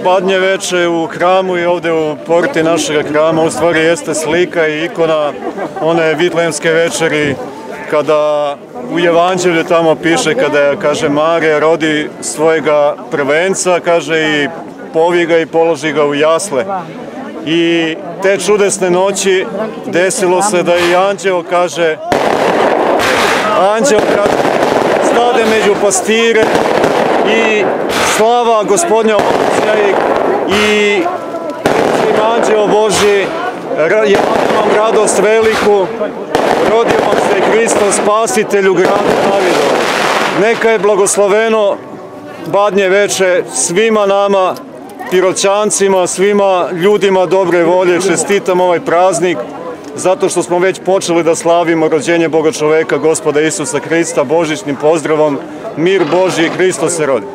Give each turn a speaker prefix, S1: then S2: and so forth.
S1: Badnje veče u hramu i ovdje u porti našeg hrama u stvari jeste slika i ikona one Vitlejemske večeri kada u Evanđelju tamo piše kada kaže Marija rodi svojega prvenca, kaže i povi ga i položi ga u jasle. I te čudesne noći desilo se da i anđeo kad stade među pastire i slava Gospodnja i anđeo Božji, javim vam radost veliku, rodio vam se Hristos Spasitelj u gradu Davidov. Neka je blagosloveno Badnje veče svima nama, Piroćancima, svima ljudima dobre volje. Čestitam ovaj praznik zato što smo već počeli da slavimo rođenje Boga čoveka, Gospoda Isusa Hrista, božićnim pozdravom, mir Božji, Hristos se rodi.